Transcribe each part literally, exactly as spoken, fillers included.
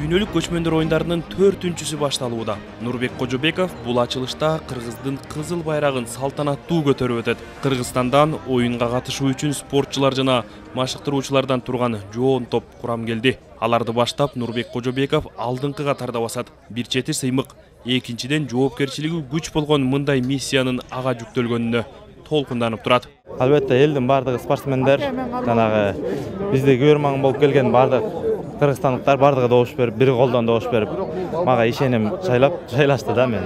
дүйнөлүк көчмөндөр оюндарынын төртүнчүсү башталууда. Нурбек Кожобеков бул ачылышта Кыргыздын кызыл байрагын салтанаттуу көтөрүп өтөт. Кыргызстандан оюнга катышуу үчүн спортчулар жана машыктыруучулардан турган жоон топ курам келди. Аларды баштап Нурбек Кожобеков алдыңкы катарда басат. Бир чети сыймык, экинчиден жоопкерчилиги күч болгон мындай миссиянын ага жүктөлгөнүнө толкунданып турат. Албетте элдин бардыгы спортсмендер, жанагы бизде көрмаң болуп келген бардык кыргызстандыктар бардыгы добуш берип, бир колдон добуш берип, мага ишеним жайлап жайлашты да мен.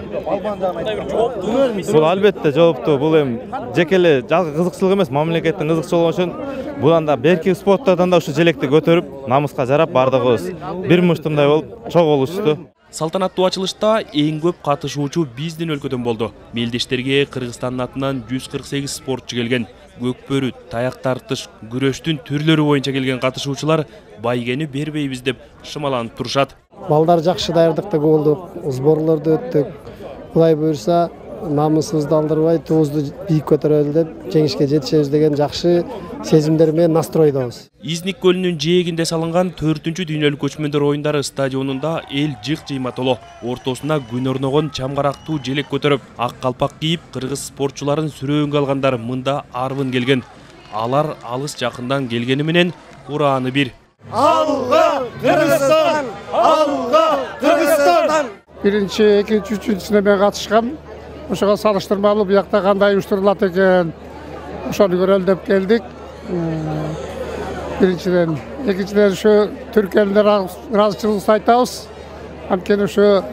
Бул албетте жооптуу, бул эми жеке эле жалгыз кызыкчылык эмес, мамлекеттин кызыкчылыгы үчүн будан да берки спорттардан да ушу желекти көтөрүп, намыска жарап бардыгыбыз бир муштумдай болуп чогулушту. Салтанаттуу ачылышта эң көп катышуучу биздин өлкөдөн болду. Мелдештерге Кыргызстандын атынан жүз кырк сегиз спортчу келген. Көкбөрү, таяк тартыш, күрөштүн түрлөрү боюнча келген катышуучулар байгени бербейбиз деп шымаланып турушат. Балдар жакшы даярдыкта болдук, сборлорду өттүк. Кудай буйрса, намысыбызды алдырбай, туубузду бийик көтөрөлү деп жеңишке жетишебиз деген жакшы сезимдер менен настройдобуз. Изник көлүнүн жээгинде салынган төртүнчү дүйнөлүк көчмөндөр оюндары стадионунда эл жык-жыйма толо. Ортосуна күн орногон чамгарактуу желек көтөрүп, ак калпак кийип, кыргыз спортчуларын сүрөөнгө алгандар мында арбын келген. Алар алыс жакындан келгени менен урааны бир. Алга Кыргызстан! Алга Кыргызстан! Биринчи, экинчи, үчүнчүсүнө мен катышкам. Ошого салыштырмалуу буякта кандай уюштурулат экен, ошону көрөлү деп келдик. Биринчиден, экинчиден ушу түрк элине ыраазычылыгыбызды айтабыз. Анткени ушу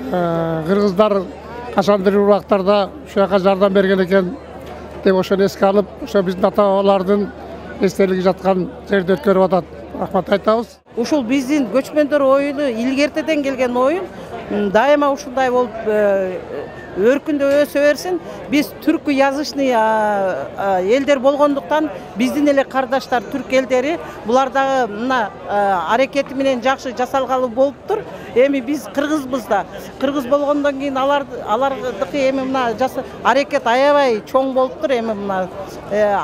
кыргыздар качандыр убактарда ушу жака жардам берген экен деп ошону эске алып, ошо биздин ата-бабалардын эстелиги жаткан жерде өткөрүп атат. Рахмат айтабыз. Ушул биздин көчмөндөр оюну илгертеден келген оюн, дайыма ушундай болуп өркүндөп өсө берсин. Биз түркү язычный элдер болгондуктан биздин эле кардаштар түрк элдери булар дагы мына аракети менен жакшы жасалгалы болуптур. Эми биз кыргызбыз да. Кыргыз болгондон кийин алар алардыкы эми мына аракет аябай чоң болуптур. Эми мына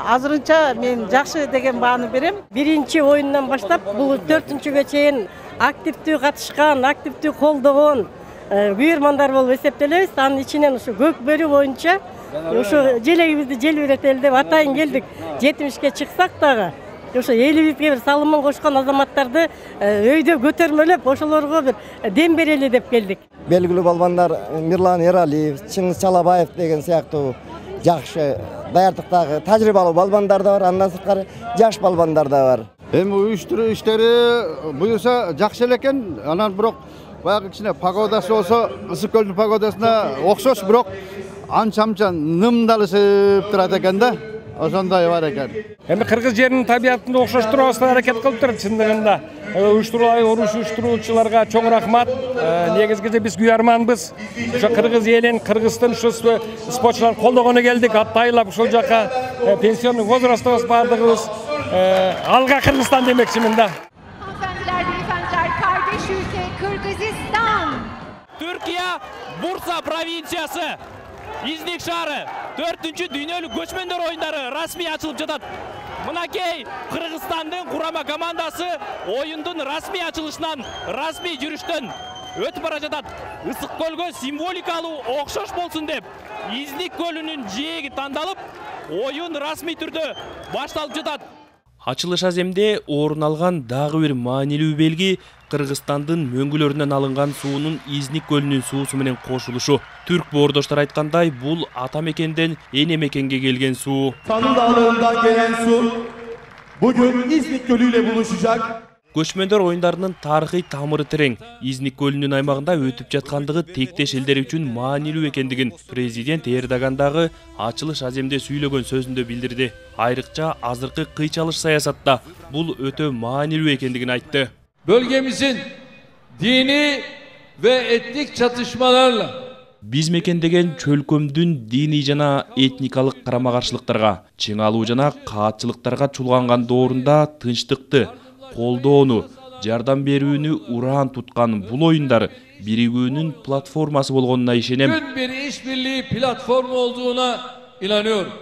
азырынча мен жакшы деген бааны берем. Биринчи оюндан баштап бул төртүнчүгө чейин активдүү катышкан, активдүү колдогон күйөрмандар болуп эсептелебиз. Анын ичинен ушу көкбөрү боюнча ушу желегибизди желбиретели деп атайын келдик. жетимишке чыксак дагы ошо элибизге бир салымын кошкон азаматтарды өйдө көтөрмөлөп, ошолорго бир дем берели деп келдик. Белгилүү балбандар Мирлан Эралиев, Чыңгыз Чалабаев деген сыяктуу жакшы даярдыктагы тажрыйбалуу балбандар да бар, андан сырткары жаш балбандар да бар. Эми уюштуруу иштери буюрса жакшы эле экен. Анан бирок баягы кичине погодасы болсо ысык көлдүн погодасына окшош, бирок анча-мынча нымдалышып турат экен да. Ошондой бар экен. Эми кыргыз жеринин табиятында окшоштурабызга аракет кылыптыр чындыгында. Уюштурулай уруш уюштуруучуларга чоң рахмат. Негизгиде биз күйөрманбыз. Ошо кыргыз элин, кыргыздын ушу спортчуларын колдогону келдик. Аттайлап ушул жака пенсионный возрастыбыз бардыгыбыз. Алга Кыргызстан демекчимин да. Hanımefendiler, beyefendiler, kardeş ülke Kırgızistan. Türkiye, Bursa provinsiyası, İznik şahrı, dördüncü dünyalık göçmender oyunları rasmi açılıp жатат. Mınakey, Kırgızistan'ın kurama komandası oyundun rasmi açılışından, rasmi yürüyüşten ötüp bara жатат. Isık kölgö simvolikalı okşoş bolsun dep, İznik kölünün жээги тандалып, oyun rasmi türde başlalıp жатат. Ачылыш аземде орун алган дагы бир маанилүү белги Кыргызстандын мөңгүлөрүнөн алынган суунун Изник көлүнүн суусу менен кошулушу. Түрк боордоштор айткандай, бул ата мекенден эне мекенге келген суу. Sanlı Dağları'ndan gelen su bugün İznik Gölü ile buluşacak. Көчмөндөр оюндарынын тарыхый тамыры терең. Изник көлүнүн аймагында өтүп жаткандыгы тектеш элдер үчүн маанилүү экендигин президент Эрдоган дагы ачылыш аземде сүйлөгөн сөзүндө билдирди. Айрыкча азыркы кыйчалыш саясатта бул өтө маанилүү экендигин айтты. Bölgemizin dini ve etnik çatışmalarla Биз мекендеген чөлкөмдүн диний жана этникалык карама-каршылыктарга, чыңалуу жана каатчылыктарга чулганган доорунда тынчтыкты, колдоону, жардам берүүнү ураан туткан бул оюндар биригүүнүн платформасы болгонуна ишенем. Bütün bir işbirliği platformu olduğuna inanıyorum.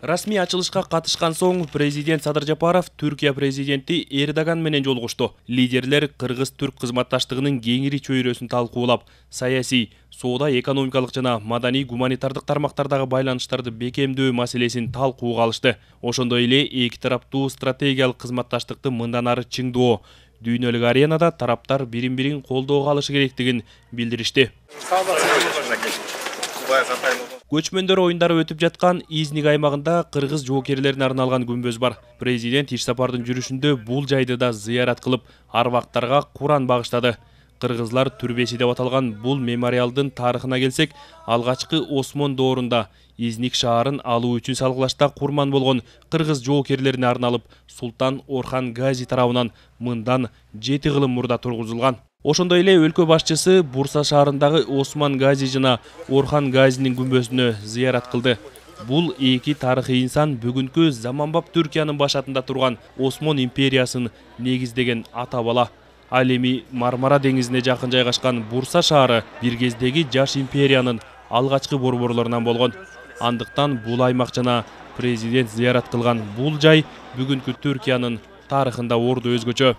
Расмий ачылышка катышкан соң президент Садыр Жапаров Түркия президенти Эрдоган менен жолугушту. Лидерлер кыргыз-түрк кызматташтыгынын кеңири чөйрөсүн талкуулап, саясий, соода, экономикалык жана маданий гуманитардык тармактардагы байланыштарды бекемдөө маселесин талкууга алышты. Ошондой эле эки тараптуу стратегиялык кызматташтыкты мындан ары чыңдоо, дүйнөлүк аренада тараптар бирин-бирин колдоого алышы керектигин билдиришти. Көчмөндөр оюндары өтүп жаткан Изник аймагында кыргыз жоокерлерине арналган күмбөз бар. Президент иш сапардын жүрүшүндө бул жайды да зыярат кылып, арбактарга Куран багыштады. Кыргызлар түрбеси деп аталган бул мемориалдын тарыхына келсек, алгачкы Осмон доорунда Изник шаарын алуу үчүн салгылашта курман болгон кыргыз жоокерлерине арналып, Султан Орхан Гази тарабынан мындан жети кылым мурда тургузулган. Ошондой эле өлкө башчысы Бурса шаарындагы Осман Гази жана Орхан Газинин күмбөзүнө зыярат кылды. Бул эки тарыхый инсан бүгүнкү заманбап Түркиянын башатында турган Осмон империясын негиздеген ата бала. Ал эми Мармара деңизине жакын жайгашкан Бурса шаары бир кездеги жаш империянын алгачкы борборлорунан болгон. Андыктан бул аймак жана президент зыярат кылган бул жай бүгүнкү Түркиянын тарыхында орду өзгөчө.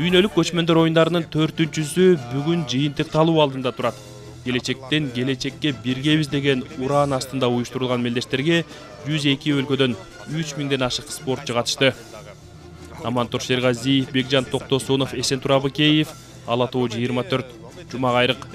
Дүйнөлүк көчмөндөр оюндарынын төртүнчүсү бүгүн жыйынтык талуу алдында турат. Келечектен келечекке биргебиз деген уран астында уюштурулган мелдештерге жүз эки өлкөдөн үч миңден ашык спортчу катышты. Амантур Шергазиев, Бекжан Токтосунов, Эсентур Абыкеев, Ала Тоо жыйырма төрт, Жума Кайрык.